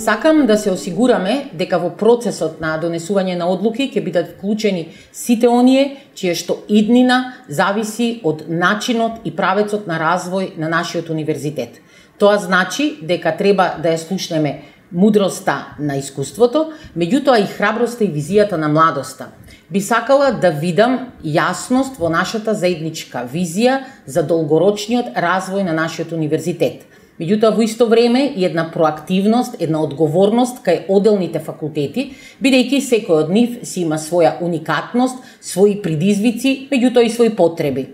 Сакам да се осигураме дека во процесот на донесување на одлуки ќе бидат вклучени сите оние чие што иднина зависи од начинот и правецот на развој на нашиот универзитет. Тоа значи дека треба да ја слушнеме мудроста на искуството, меѓутоа и храброста и визијата на младоста. Би сакала да видам јасност во нашата заедничка визија за долгорочниот развој на нашиот универзитет. Меѓутоа, во исто време и една проактивност, една одговорност кај одделните факултети, бидејќи секој од нив си има своја уникатност, своји предизвици, меѓутоа и своји потреби.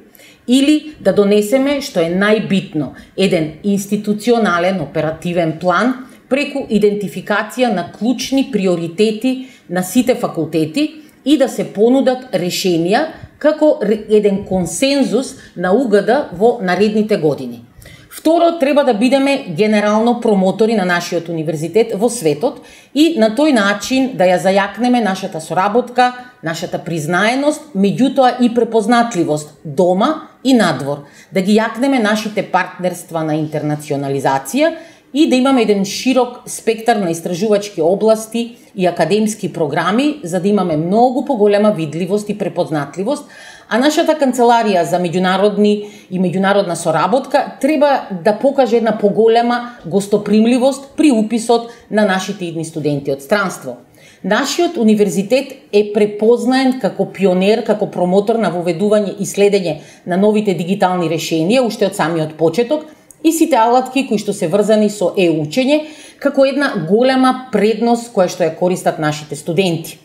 Или да донесеме, што е најбитно, еден институционален оперативен план преку идентификација на клучни приоритети на сите факултети и да се понудат решенија како еден консензус на УГД во наредните години. Второ, треба да бидеме генерално промотори на нашиот универзитет во светот и на тој начин да ја зајакнеме нашата соработка, нашата признаеност, меѓутоа и препознатливост дома и надвор, да ги јакнеме нашите партнерства на интернационализација и да имаме еден широк спектар на истражувачки области и академски програми, за да имаме многу поголема видливост и препознатливост, а нашата канцеларија за меѓународни и меѓународна соработка треба да покаже една поголема гостопримливост при уписот на нашите идни студенти од странство. Нашиот универзитет е препознаен како пионер, како промотор на воведување и следење на новите дигитални решенија уште од самиот почеток и сите алатки кои што се врзани со учење како една голема предност која што ја користат нашите студенти.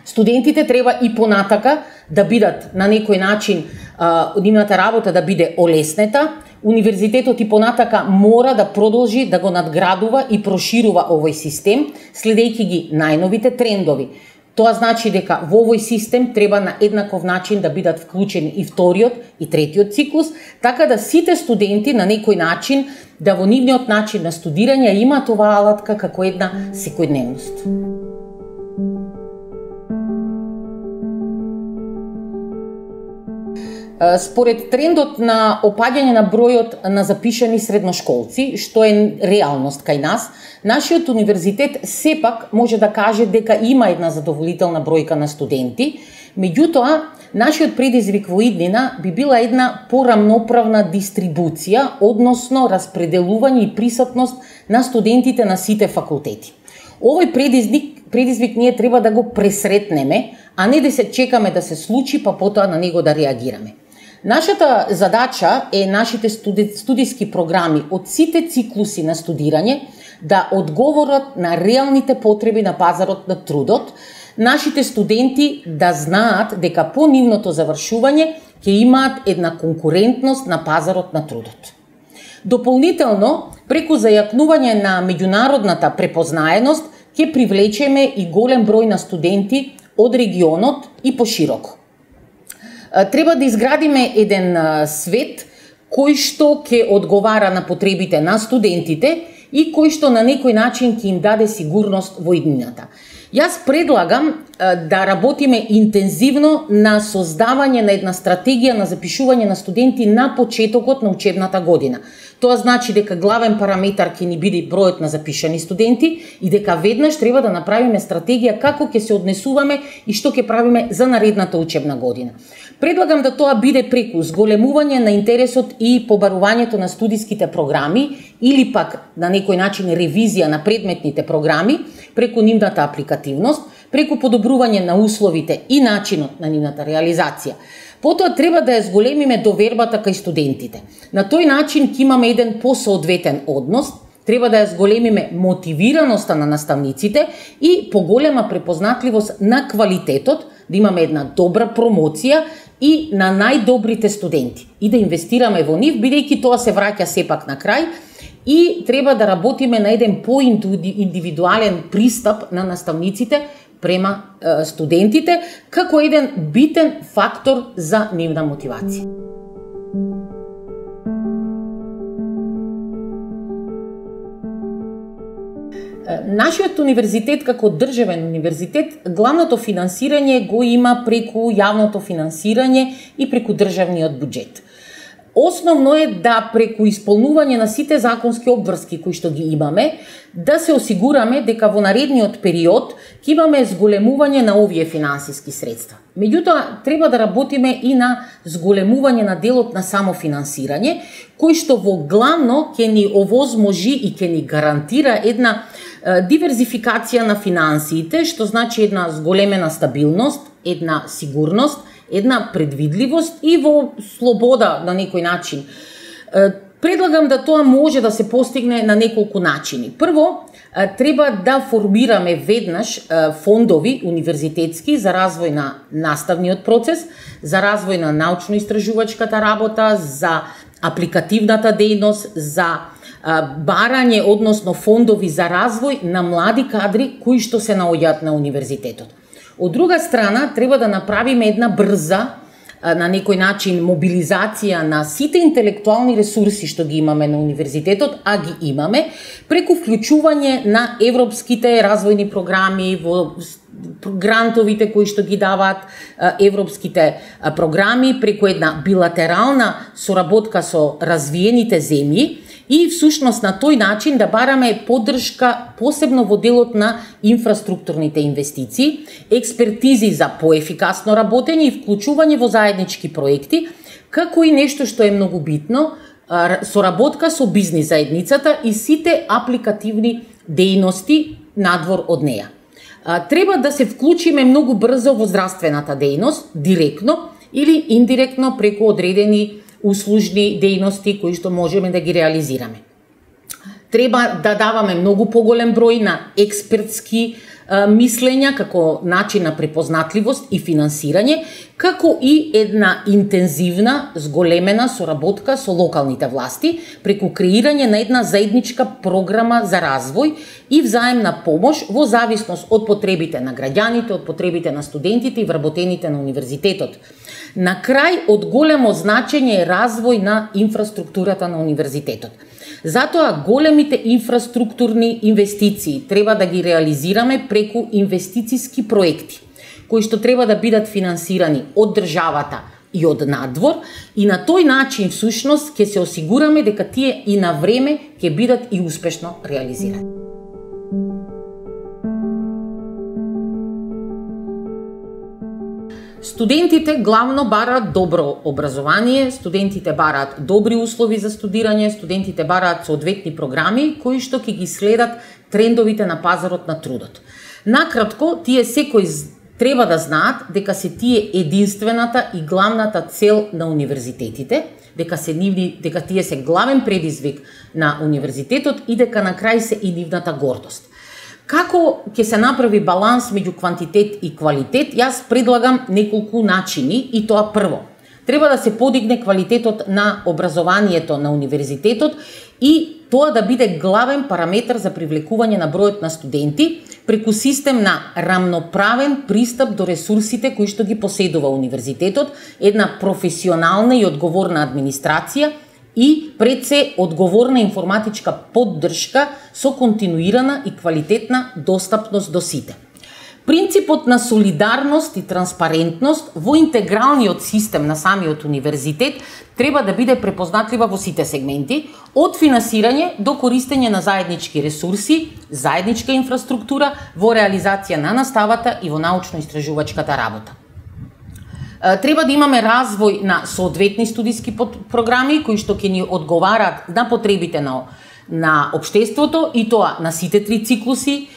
Студентите треба и понатака да бидат на некој начин нивната работа да биде олеснета. Универзитетот и понатака мора да продолжи да го надградува и проширува овој систем, следејќи ги најновите трендови. Тоа значи дека во овој систем треба на еднаков начин да бидат вклучени и вториот и третиот циклус, така да сите студенти на некој начин да во нивниот начин на студирање имаат оваа алатка како една секојдневност. Според трендот на опаѓање на бројот на запишани средношколци, што е реалност кај нас, нашиот универзитет сепак може да каже дека има една задоволителна бројка на студенти, меѓутоа, нашиот предизвик во иднина би била една порамноправна дистрибуција, односно распределување и присутност на студентите на сите факултети. Овој предизвик ние треба да го пресретнеме, а не да се чекаме да се случи, па потоа на него да реагираме. Нашата задача е нашите студиски програми од сите циклуси на студирање да одговорат на реалните потреби на пазарот на трудот, нашите студенти да знаат дека по нивното завршување ќе имаат една конкурентност на пазарот на трудот. Дополнително, преку зајакнување на меѓународната препознаеност, ќе привлечеме и голем број на студенти од регионот и пошироко. Треба да изградиме еден свет кој што ќе одговара на потребите на студентите и кој што на некој начин ќе им даде сигурност во иднината. Јас предлагам да работиме интензивно на создавање на една стратегија на запишување на студенти на почетокот на учебната година. Тоа значи дека главен параметар ќе ни биде бројот на запишани студенти и дека веднаш треба да направиме стратегија како ќе се однесуваме и што ќе правиме за наредната учебна година. Предлагам да тоа биде преку зголемување на интересот и побарувањето на студиските програми или пак на некој начин ревизија на предметните програми преку нивната апликативност, преку подобрување на условите и начинот на нивната реализација. Потоа треба да ја зголемиме довербата кај студентите. На тој начин ќе имаме еден посоодветен однос, треба да ја зголемиме мотивираноста на наставниците и поголема препознатливост на квалитетот, да имаме една добра промоција и на најдобрите студенти и да инвестираме во нив, бидејќи тоа се враќа сепак на крај и треба да работиме на еден поиндивидуален пристап на наставниците према студентите како еден битен фактор за нивна мотивација. Нашиот универзитет како државен универзитет, главното финансирање го има преку јавното финансирање и преку државниот буџет. Основно е да преку исполнување на сите законски обврски кои што ги имаме, да се осигураме дека во наредниот период ќе имаме зголемување на овие финансиски средства. Меѓутоа, треба да работиме и на зголемување на делот на самофинансирање, кој што во главно ќе ни овозможи и ќе ни гарантира една диверзификација на финансиите, што значи една зголемена стабилност, една сигурност, една предвидливост и во слобода на некој начин. Предлагам да тоа може да се постигне на неколку начини. Прво, треба да формираме веднаш фондови универзитетски за развој на наставниот процес, за развој на научно-истражувачката работа, за апликативната дејност, за барање, односно фондови за развој на млади кадри кои што се наоѓаат на универзитетот. Од друга страна, треба да направиме една брза, на некој начин, мобилизација на сите интелектуални ресурси што ги имаме на универзитетот, а ги имаме, преку вклучување на европските развојни програми, во грантовите кои што ги даваат европските програми, преку една билатерална соработка со развиените земји, и всушност на тој начин да бараме поддршка посебно во делот на инфраструктурните инвестиции, експертизи за поефикасно работење и вклучување во заеднички проекти, како и нешто што е многу битно, соработка со бизнис заедницата и сите апликативни дејности надвор од неја. Треба да се вклучиме многу брзо во здравствената дејност, директно или индиректно преку одредени услужни дејности кои што можеме да ги реализираме. Треба да даваме многу поголем број на експертски мислења како начин на препознатливост и финансирање, како и една интензивна, зголемена соработка со локалните власти преку креирање на една заедничка програма за развој и взаемна помош во зависност од потребите на граѓаните, од потребите на студентите и вработените на универзитетот. На крај, од големо значење е развој на инфраструктурата на универзитетот. Затоа големите инфраструктурни инвестиции треба да ги реализираме преку инвестициски проекти, кои што треба да бидат финансирани од државата и од надвор, и на тој начин всушност ќе се осигураме дека тие и на време ќе бидат и успешно реализирани. Студентите главно бараат добро образование, студентите бараат добри услови за студирање, студентите бараат соодветни програми кои што ќе ги следат трендовите на пазарот на трудот. Накратко, тие секој треба да знаат дека се тие единствената и главната цел на универзитетите, дека тие се главен предизвик на универзитетот и дека на крај се и нивната гордост. Како ќе се направи баланс меѓу квантитет и квалитет, јас предлагам неколку начини и тоа прво. Треба да се подигне квалитетот на образованието на универзитетот и тоа да биде главен параметар за привлекување на бројот на студенти преку систем на рамноправен пристап до ресурсите кои што ги поседува универзитетот, една професионална и одговорна администрација и пред се одговорна информатичка поддршка со континуирана и квалитетна достапност до сите. Принципот на солидарност и транспарентност во интегралниот систем на самиот универзитет треба да биде препознатлива во сите сегменти, од финансирање до користење на заеднички ресурси, заедничка инфраструктура во реализација на наставата и во научно-истражувачката работа. Треба да имаме развој на соодветни студиски програми кои што ќе ни одговарат на потребите на општеството и тоа на сите три циклуси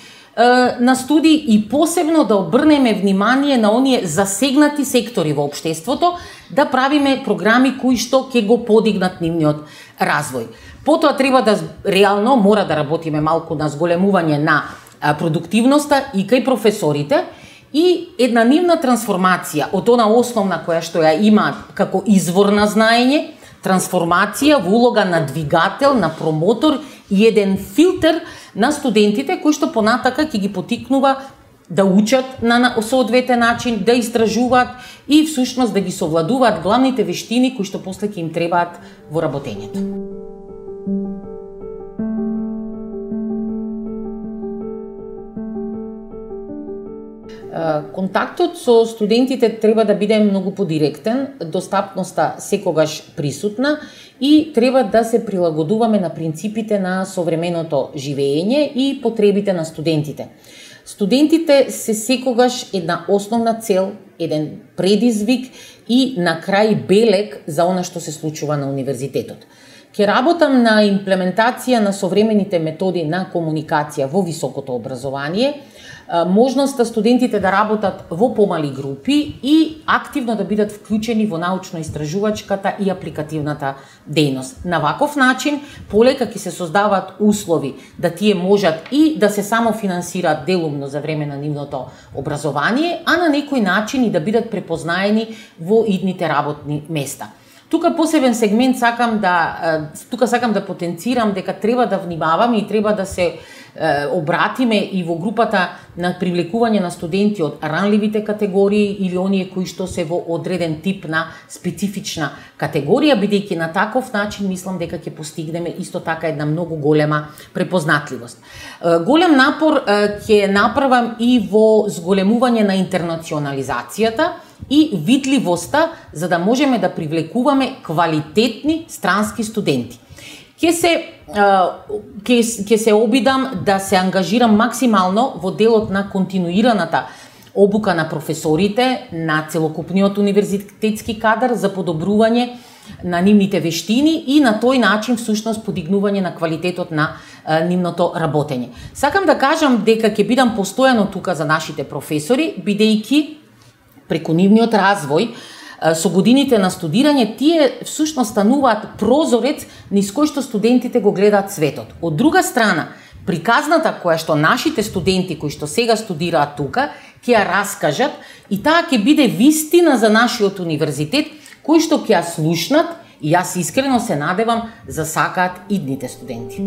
на студии и посебно да обрнеме внимание на оние засегнати сектори во општеството, да правиме програми кои што ќе го подигнат нивниот развој. Потоа треба да реално мора да работиме малку на зголемување на продуктивноста и кај професорите и една нивна трансформација од она основна која што ја имаат како извор на знаење, трансформација во улога на двигател, на промотор и еден филтер на студентите кои што понатака ќе ги потикнува да учат на соодветен начин, да истражуваат и всушност да ги совладуваат главните вештини кои што после ќе им требаат во работењето. Контактот со студентите треба да биде многу подиректен, достапноста секогаш присутна и треба да се прилагодуваме на принципите на современото живење и потребите на студентите. Студентите се секогаш една основна цел, еден предизвик и на крај белег за она што се случува на универзитетот. Ке работам на имплементација на современите методи на комуникација во високото образование, можноста студентите да работат во помали групи и активно да бидат вклучени во научно-истражувачката и апликативната дејност. На ваков начин, полека ќе се создаваат услови да тие можат и да се самофинансираат делумно за време на нивното образование, а на некој начин и да бидат препознаени во идните работни места. Тука посебен сегмент сакам да потенцирам дека треба да внимаваме и треба да се обратиме и во групата на привлекување на студенти од ранливите категории или оние кои што се во одреден тип на специфична категорија, бидејќи на таков начин мислам дека ќе постигнеме исто така една многу голема препознатливост. Голем напор ќе направам и во зголемување на интернационализацијата и видливоста за да можеме да привлекуваме квалитетни странски студенти. Ќе се обидам да се ангажирам максимално во делот на континуираната обука на професорите, на целокупниот универзитетски кадар за подобрување на нивните вештини и на тој начин всушност подигнување на квалитетот на нивното работење. Сакам да кажам дека ќе бидам постојано тука за нашите професори, бидејќи преку нивниот развој со годините на студирање, тие всушност стануваат прозорец низ кој што студентите го гледаат светот. Од друга страна, приказната која што нашите студенти кои што сега студираат тука, ќе ја раскажат и таа ќе биде вистина за нашиот универзитет, кој што ќе ја слушнат и јас искрено се надевам за сакаат идните студенти.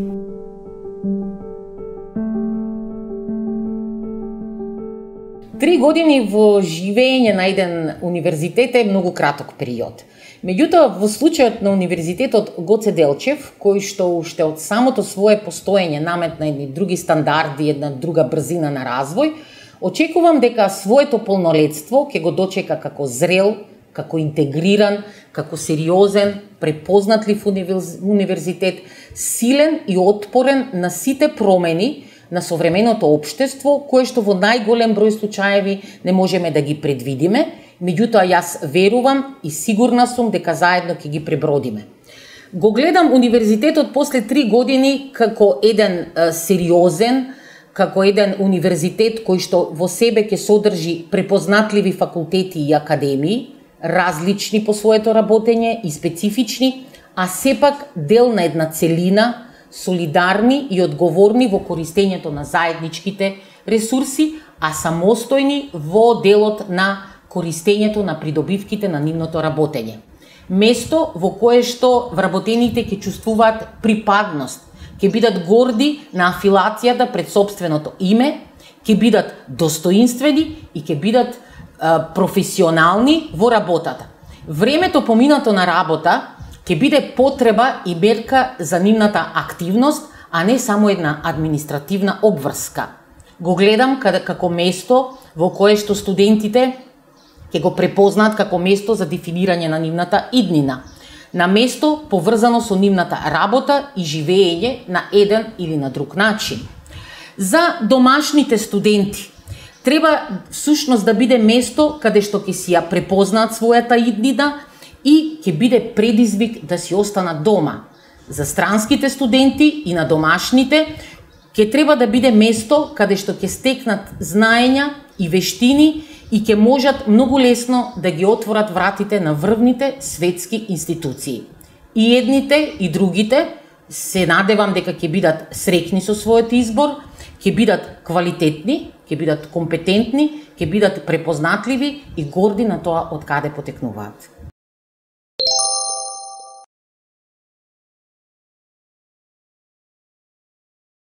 Три години во живење на еден универзитет е многу краток период. Меѓутоа, во случајот на универзитетот Гоце Делчев, кој што уште од самото свое постоење наметна едни други стандарди, една друга брзина на развој, очекувам дека своето полнолетство ќе го дочека како зрел, како интегриран, како сериозен, препознатлив универзитет, силен и отпорен на сите промени на современото општество, кое што во најголем број случаеви не можеме да ги предвидиме, меѓутоа јас верувам и сигурна сум дека заедно ќе ги пребродиме. Го гледам универзитетот после 3 години како еден сериозен, како еден универзитет кој што во себе ќе содржи препознатливи факултети и академии, различни по своето работење и специфични, а сепак дел на една целина, солидарни и одговорни во користењето на заедничките ресурси, а самостојни во делот на користењето на придобивките на нивното работење. Место во кое што вработените ќе чувствуваат припадност, ќе бидат горди на афилацијата пред сопственото име, ќе бидат достоинствени и ќе бидат професионални во работата. Времето поминато на работа ќе биде потреба и мерка за нивната активност, а не само една административна обврска. Го гледам како место во кое што студентите ќе го препознаат како место за дефинирање на нивната иднина, на место поврзано со нивната работа и живење на еден или на друг начин. За домашните студенти треба всушност да биде место каде што ќе си ја препознаат својата иднина и ќе биде предизвик да си останат дома. За странските студенти и на домашните ќе треба да биде место каде што ќе стекнат знаења и вештини и ќе можат многу лесно да ги отворат вратите на врвните светски институции. И едните и другите се надевам дека ќе бидат среќни со својот избор, ќе бидат квалитетни, ќе бидат компетентни, ќе бидат препознатливи и горди на тоа од каде потекнуваат.